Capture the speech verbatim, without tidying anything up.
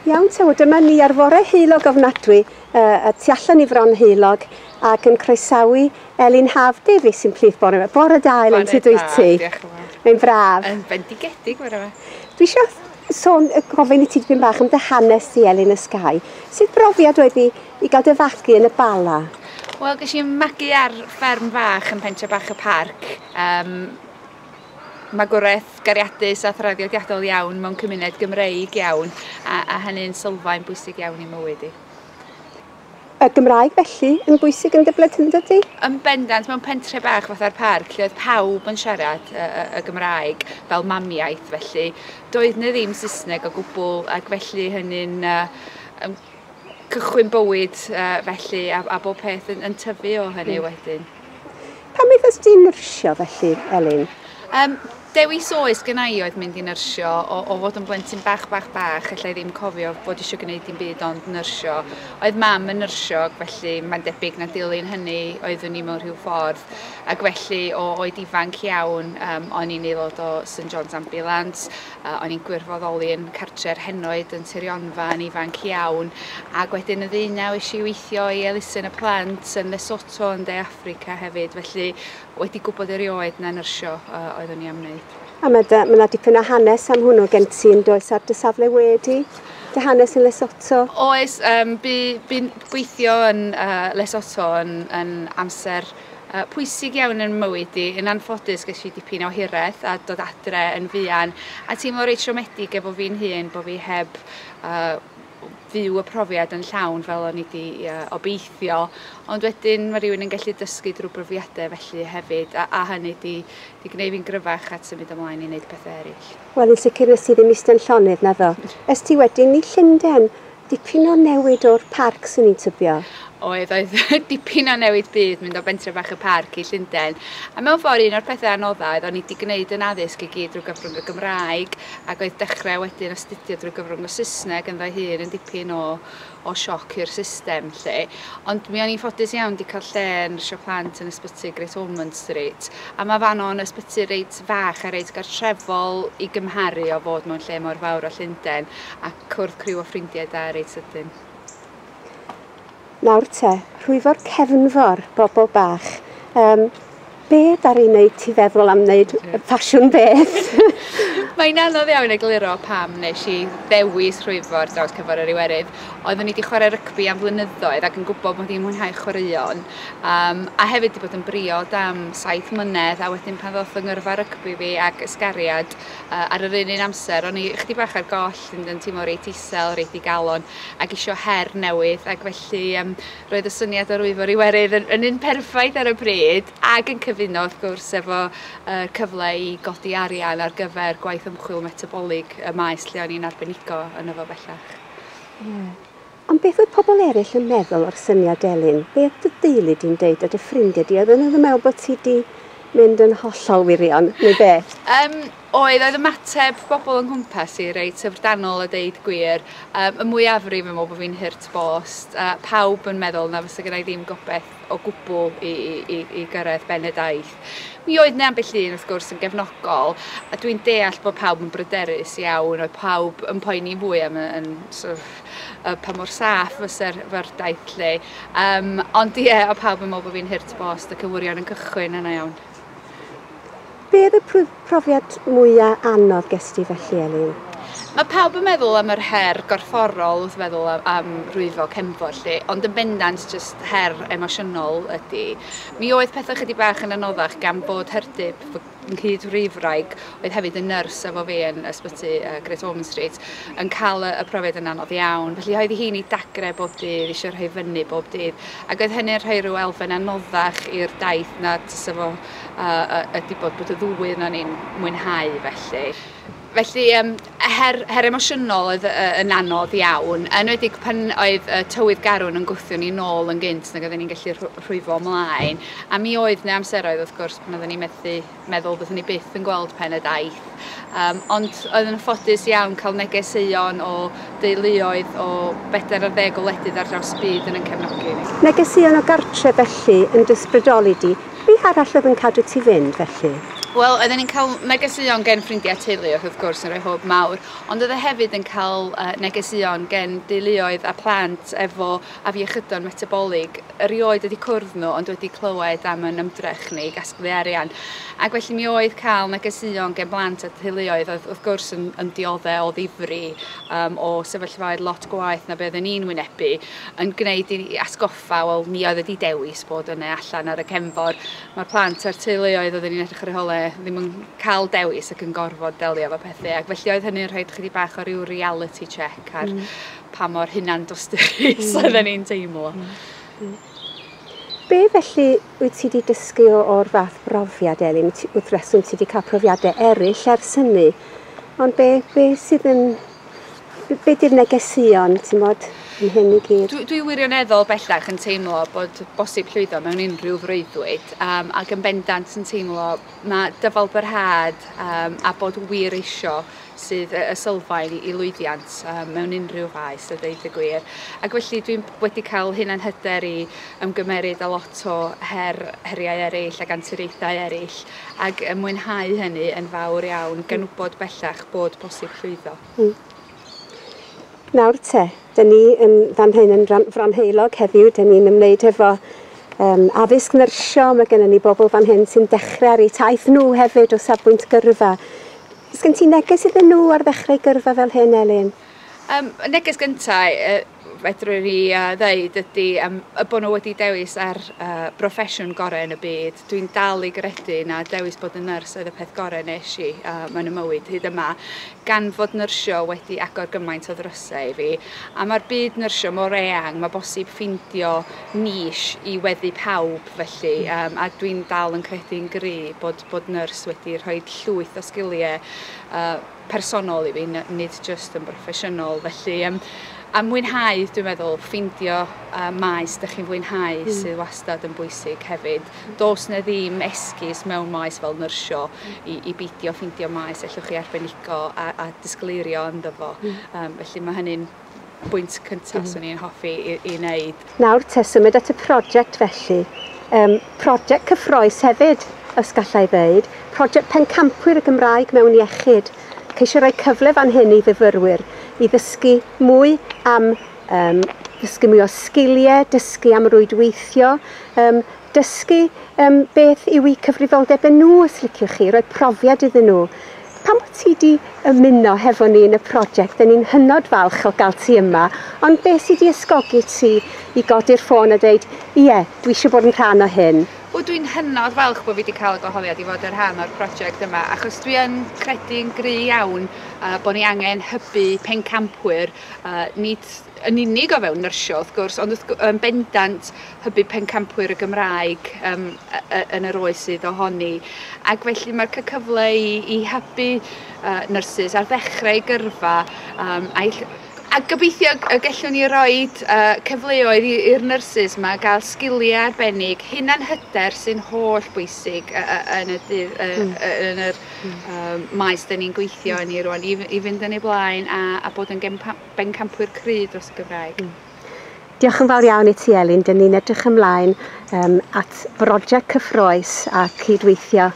Iawn te, wel dyma ni ar fore heulog ofnadwy, uh, tu allan i Fron Heulog, ac yn croesawu Elin Haf Davies sy'n plith bore yma. Bore da, Elin, sut wyt ti? Diolch yn fawr. Mae'n braf. Yn bendigedig bore yma. Dwi eisiau sôn, gofyn i ti dipyn bach am dy hanes di, Elin Ysgau. Sut brofiad oedd i, i gael dy fagu yn y Bala? Wel, ges i'n magu ar fferm fach yn pentre bach y parc. Um, magwraeth gariadus a thraddodiadol iawn mewn cymuned Gymreig iawn, a, a hynny'n sylfaen bwysig iawn i mywyd i. Y Gymraeg felly yn bwysig yn dy blentyndod di? Yn bendant, mewn pentre bach fatha'r parc, lle oedd pawb yn siarad y, y, y Gymraeg fel mamiaith felly. Doedd 'na ddim Saesneg o gwbl, ac felly hynny'n uh, um, cychwyn bywyd uh, felly, a, a bob peth yn, yn tyfu o hynny mm. wedyn. Pam aethos di nyrsio felly, Elin? Um, dewis oes gynna i oedd mynd i nyrsio, o, o fod yn blentyn bach, bach, bach, allai ddim cofio bod eisiau gwneud dim byd ond nyrsio. Oedd mam yn nyrsio, ac felly mae'n debyg na dilyn hynny oeddwn i mewn rhyw ffordd. Ac felly o oed ifanc iawn, um, o'n i'n aelod o St John's Ambulance, uh, o'n i'n gwirfoddoli yn cartre'r henoed yn Tirionfa yn ifanc iawn, ac wedyn y ddeunaw es i weithio i elusen y plant yn Lesotho yn De Affrica hefyd, felly wedi gwybod erioed na nyrsio uh, oeddwn i am wneud. A mae yna dipyn o hanes am hwnnw gen ti yn does ar dy safle wedi, dy hanes yn Lesotho? Oes, um, bu, bu'n gweithio yn uh, Lesotho yn, yn amser uh, pwysig iawn yn mywyd i. Yn anffodus ges i dipyn o hiraeth a dod adre yn fuan, a teimlo reit siomedig efo fi'n hun bod fi heb uh, fyw y profiad yn llawn fel o'n i wedi uh, obeithio, ond wedyn mae rhywun yn gallu dysgu drwy brofiadau felly hefyd, a, a hynny di, di gwneud fi'n gryfach at symud ymlaen i wneud pethau eraill. Wel, yn sicr nes ti ddim eistedd yn llonydd, naddo. Es ti wedyn i Llundain, dipyn o newid o'r parc swn i'n tybio? Oedd, oedd dipyn o newid byd mynd o bentre bach y parc i Llundain. A mewn ffordd un o'r pethau anoddau oedd o'n i wedi gwneud yn addysg i gyd drwy gyfrwng y Gymraeg, ac oedd dechrau wedyn astudio drwy gyfrwng y Saesneg ynddo hun yn dipyn o, o sioc i'r system lle. Ond mi o'n i'n ffodus iawn wedi cael lle yn nyrsio plant yn ysbyty Great Ormond Street. A mae fan o'n ysbyty reit fach a reit gartrefol i gymharu o fod mewn lle mor fawr o Llundain, a cwrdd criw o ffrindiau da reit sydyn. Nawr te, rhwyfo'r cefnfor, bobl bach. Um, be ddaru wneud ti feddwl am wneud ffasiwn beth? Mae'n anodd iawn egluro pam nes i ddewis rhwyfo ar draws cefnfor yr Iwerydd. Oeddwn i wedi chwarae rygbi am flynyddoedd ac yn gwybod mod i'n mwynhau chwaraeon. Um, a hefyd wedi bod yn briod am saith mlynedd, a wedyn pan ddoth yng ngyrfa rygbi fi ac ysgariad uh, ar yr un un amser, o'n i chydig bach ar goll, yn, yn teimlo reit isel, reit digalon, ac isio her newydd, ac felly um, roedd y syniad o rwyfo'r Iwerydd yn, yn un perffaith ar y pryd, ac yn cyfuno wrth gwrs efo uh, cyfle i godi arian ar gyfer gwaith ymchwil metabolig y maes lle o'n i'n arbenigo yn efo bellach. Yeah. Ond beth oedd pobl eraill yn meddwl o'r syniad, Elin? Beth dy deulu di'n deud a dy ffrindiau di? Oedden nhw'n meddwl bod ti di mynd yn hollol wirion, neu beth? Um, oedd, oedd ymateb bobl yng nghwmpas i reit syfrdanol a deud gwir. Um, y mwyafrif yn meddwl bod fi'n hurt bost. Uh, pawb yn meddwl na fysa gynna i ddim gobaith o gwbl i, i, i, i gyrraedd ben y daith. Mi oedd 'na ambell un wrth gwrs yn gefnogol, a dwi'n deall bod pawb yn bryderus iawn, oedd pawb yn poeni fwy am y, yn, sort of, uh, pa mor saff fysa'r daith lle. Um, ond ie, oedd pawb yn meddwl bod fi'n hurt bost ac yn wirion yn cychwyn yna iawn. Be oedd y profiad mwyaf anodd ges ti felly, Elin? Mae pawb yn meddwl am yr her gorfforol wrth feddwl am, am rwyfo cefnfor lle, ond yn bendant just her emosiynol ydy. Mi oedd pethau chydig bach yn anoddach gan bod Herdip, fy nghyd-rwyfwraig, oedd hefyd yn nyrs efo fi yn ysbyty uh, Great Ormond Street, yn cael y, y profiad yn anodd iawn. Felly oedd hi'n ei dagre bob dydd, eisiau rhoi fyny bob dydd, ac oedd hynny'n rhoi rhyw elfen anoddach i'r daith na tysa fo uh, ydy bod, bod y ddwy yna ni'n mwynhau felly. Felly, um, her, her emosiynol oedd uh, yn anodd iawn, enwedig pan oedd uh, tywydd garwn yn gwthio ni nôl yn gynt nag oedden ni'n gallu rhwyfo ymlaen. A mi oedd 'na amseroedd wrth gwrs pan oedden ni'n methu meddwl byddwn ni byth yn gweld pen y daith. Um, ond oedd yn ffodus iawn cael negeseuon o deuluoedd o bedair ar ddeg o wledydd ar draws y byd yn yn cefnogi ni. Negeseuon o gartre felly yn dy ysbrydoli di. Be arall oedd yn cadw ti fynd felly? Wel, oedden ni'n cael negeseuon gen ffrindiau teulu, wrth gwrs, yn rhoi hwb mawr, ond oedd e hefyd yn cael uh, negeseuon gen deuluoedd a plant efo afiechydon metabolig. Erioed wedi cwrdd nhw, ond wedi clywed am yn ymdrech ni i gasglu arian. Ac felly mi oedd cael negeseuon gen blant a teuluoedd oedd wrth gwrs yn, yn dioddef o ddifri, um, o sefyllfaoedd lot gwaeth na beth ni'n wynebu, yn gwneud i atgoffa, wel, ni oedd wedi dewis bod yna allan ar y cefnfor. Mae'r plant a'r teuluoedd oedden ni'n edrych ar eu holau ddim yn cael dewis ac yn gorfod delio efo pethau, ac felly oedd hynny'n rhoi chydig bach o ryw reality check ar mm. pa mor hunan dosturus mm. oedden ni'n teimlo. Mm. Mm. Be felly wyt ti wedi dysgu o'r fath brofiad, Elin? Wrth reswm ti wedi cael profiadau eraill ers hynny, ond be, be sydd yn... Be di'r negeseuon, ti'n mod, yn hyn i gyd? Dwi, dwi wirioneddol bellach yn teimlo bod bosib llwyddo mewn unrhyw freuddwyd, um, ac yn bendant yn teimlo mae dyfalbarhad um, a bod wir isio sydd y sylfaen i, i lwyddiant um, mewn unrhyw faes, a dweud y gwir. Ac felly dwi'n wedi cael hunanhyder i ymgymeryd â lot o her, heriau eraill ac anturiaethau eraill, ac mwynhau hynny yn fawr iawn, gan wybod bellach bod posib llwyddo. Mm. Nawr te, dyn ni yn fan hyn yn Fronheulog heddiw, dyn ni'n ymwneud efo um, addysg nyrsio, mae gennym ni bobl fan hyn sy'n dechrau ar eu taith nhw hefyd o safbwynt gyrfa. Oes gen ti neges iddyn nhw ar ddechrau gyrfa fel hyn, Elin? Um, y neges gyntaf, uh, fedrwn ni uh, ddeud ydy um, y bod nhw wedi dewis ar uh, broffesiwn gorau yn y byd. Dwi'n dal i gredu na dewis bod yn nyrs oedd y peth gorau nes i uh, mewn y mywyd hyd yma, gan fod nyrsio wedi agor gymaint o ddrysau i fi. A mae'r byd nyrsio mor eang, mae bosib ffindio niche i weddu pawb felly, um, a dwi'n dal yn credu'n gry bod, bod nyrs wedi rhoi llwyth o sgiliau uh, personol i fi, nid just yn broffesiynol. Felly, um, a mwynhau, dwi'n meddwl, ffeindio uh, maes dych chi'n fwynhau mm. sydd wastad yn bwysig hefyd. Does na ddim esgus mewn maes fel nyrsio i, i beidio ffeindio maes allwch chi arbenigo a, a disgleirio ynddo fo. Mm. Um, felly mae hynny'n bwynt cyntaf mm. swn i'n hoffi i, i wneud. Nawr te, symud at y prosiect felly. Um, prosiect cyffrous hefyd, os gallai ddeud. Prosiect Pencampwyr y Gymraeg mewn Iechyd. Ceisio rhoi cyfle fan hyn i fyfyrwyr i ddysgu mwy am um, dysgu mwy o sgiliau, dysgu am rwydweithio, um, dysgu um, beth yw eu cyfrifoldebau nhw, os liciwch chi, rhoi profiad iddyn nhw. Pam bod ti wedi ymuno hefo ni yn y prosiect, dyn ni'n hynod falch o gael ti yma, ond beth sydd wedi ysgogi ti i godi'r ffôn a dweud, ie, dwi eisiau bod yn rhan o hyn? Wel, dwi'n hynod falch bod fi wedi cael y gwahoddiad i fod yn rhan o'r prosiect yma, achos dwi yn credu'n gry iawn uh, bod ni angen hybu pencampwyr, uh, nid yn unig o fewn nyrsio wrth gwrs, ond wrth, yn bendant hybu pencampwyr y Gymraeg um, yn yr oes sydd ohoni. Ac felly mae'r cyfle i, i hybu uh, nyrsys ar ddechrau gyrfa um, a'i A gobeithio y gallwn ni roed uh, cyfleoedd i'r nyrsys yma gael sgiliau arbennig, hunanhyder sy'n holl bwysig uh, yn y, dydd, uh, mm. yn yr um, maes dyn ni'n gweithio yn ei rwan, i, i fynd yn ei blaen a, a bod yn bencampwyr cry dros y Gymraeg. Mm. Diolch yn fawr iawn i ti, Elin. Dyn ni'n edrych ymlaen um, at brosiect cyffrous a cydweithio